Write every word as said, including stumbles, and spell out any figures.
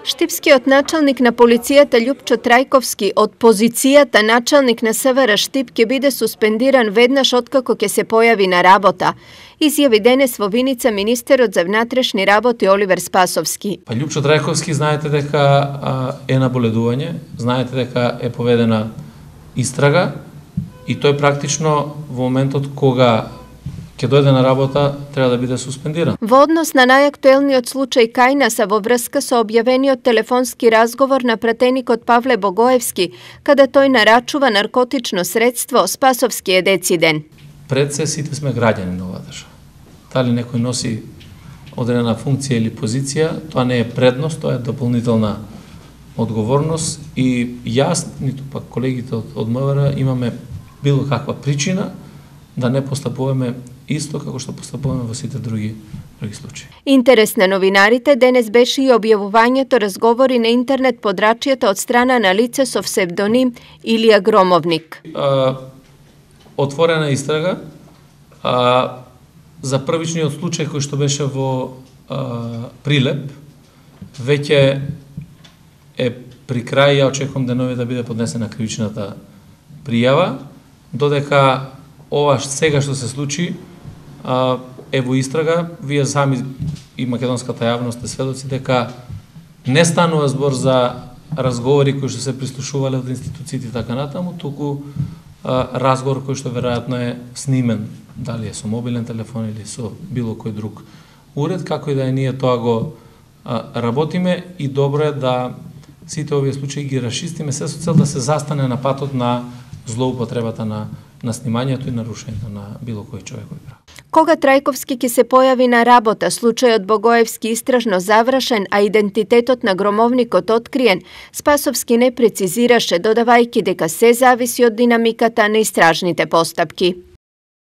Штипскиот началник на полицијата Љупчо Трајковски од позицијата началник на СВР Штип ќе биде суспендиран веднаш откако ќе се појави на работа, изјави денес во Виница министерот за внатрешни работи Оливер Спасовски. Па Љупчо Трајковски знаете дека а, е на боледување, знаете дека е поведена истрага и тој практично во моментот кога ќе дојде на работа, треба да биде суспендиран. Во однос на најактуелниот случај Кајнаса во врска со објавениот телефонски разговор на пратеникот Павле Богоевски, каде тој нарачува наркотично средство, Спасовски е дециден. Пред се сите сме граѓани на оваа држава. Дали некој носи одредена функција или позиција, тоа не е предност, тоа е дополнителна одговорност и јас, ниту пак колегите од, од МВР имаме било каква причина да не постапуваме исто како што постапуваме во сите други други случаи. Интерес на новинарите денес беше и објавувањето разговори на интернет подрачјата од страна на лице со псевдоним Илија Громовник. А, отворена истрага а, за првичниот случај кој што беше во а, Прилеп, веќе е при крај, ја очекувам денови да биде поднесена кривичната пријава, додека ова сега што се случи е во истрага. Вие сами и македонската јавност е сведоци дека не станува збор за разговори кои што се прислушувале од институциите и така натаму, туку разговор кој што веројатно е снимен, дали е со мобилен телефон или со било кој друг уред, како и да е, ние тоа го работиме и добро е да сите овие случаи ги расчистиме се со цел да се застане на патот на злоупотребата на на снимањето и нарушењето на било кој човекови права. Кога Трајковски ќе се појави на работа, случајот Богоевски истражно завршен, а идентитетот на громовникот откриен, Спасовски не прецизираше, додавајќи дека се зависи од динамиката на истражните постапки.